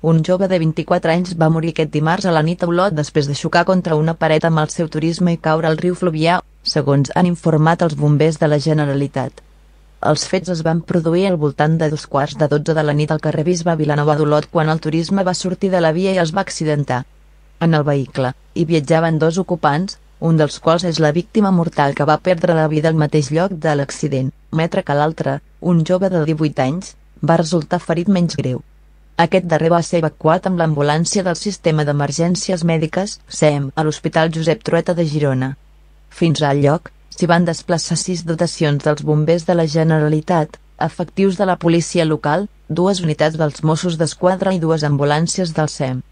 Un jove de 24 anys va morir aquest dimarts a la nit a Olot després de xocar contra una paret amb el seu Turisme i caure al riu Fluvià, segons han informat els bombers de la Generalitat. Els fets es van produir al voltant de 11:15 de la nit al carrer Bisbe Vilanova d'Olot quan el Turisme va sortir de la via i es va accidentar. En el vehicle hi viatjaven 2 ocupants, un dels quals és la víctima mortal que va perdre la vida al mateix lloc de l'accident, mentre que l'altre, un jove de 18 anys, va resultar ferit menys greu. Aquest darrer va ser evacuat amb l'ambulància del Sistema d'Emergències Mèdiques, SEM, a l'Hospital Josep Trueta de Girona. Fins al lloc, s'hi van desplaçar 6 dotacions dels bombers de la Generalitat, efectius de la policia local, 2 unitats dels Mossos d'Esquadra i 2 ambulàncies del SEM.